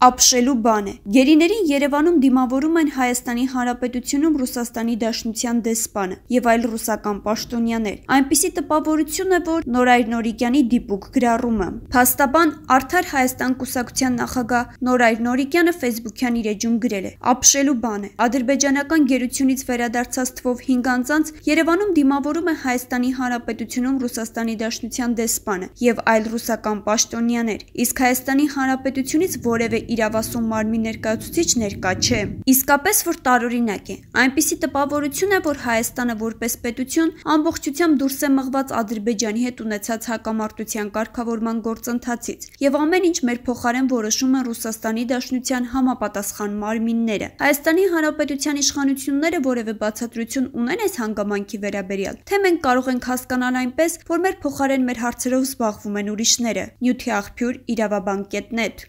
ապշելու բան է։ Գերիներին Երևանում դիմավորում են Հայաստանի Հանրապետությունում Ռուսաստանի Դաշնության դեսպանը եւ այլ ռուսական պաշտոնյաներ։ Այնպիսի տպավորություն է, որ Նորայր Նորիկյանի դիպուկ գրառումը։ Փաստաբան Արդար Հայաստան կուսակցության նախագահ Նորայր Նորիկյանը Facebook-յան իր էջում գրել է. ապշելու բան է։ Ադրբեջանական գերությունից վերադարձած թվով 5 անձանց Երևանում դիմավորում է Հայաստանի Հանրապետությունում Ռուսաստանի Դաշնության դեսպանը եւ այլ ռուսական պաշտոնյաներ, իսկ Հայաստանի Հանրապետությունից որևէ իրավասու մարմնի ներկայացուցիչ ներկա չէ։ Իսկապես որ տարօրինակ է։ Այնպիսի տպավորություն է, որ Հայաստանը որպես պետություն ամբողջությամբ դուրս է մղված Ադրբեջանի հետ ունեցած հակամարտության կարգավորման գործընթացից եւ ամեն ինչ մեր փոխարեն որոշում են Ռուսաստանի Դաշնության համապատասխան մարմինները։ Հայաստանի Հանրապետության իշխանությունները որևէ բացատրություն ունեն այս հանգամանքի վերաբերյալ, թե մենք կարող ենք հասկանալ այնպես, որ մեր փոխարեն մեր հարցերով զբաղվում են ուրիշները։ Նյութի աղբյուր իրավաբան.net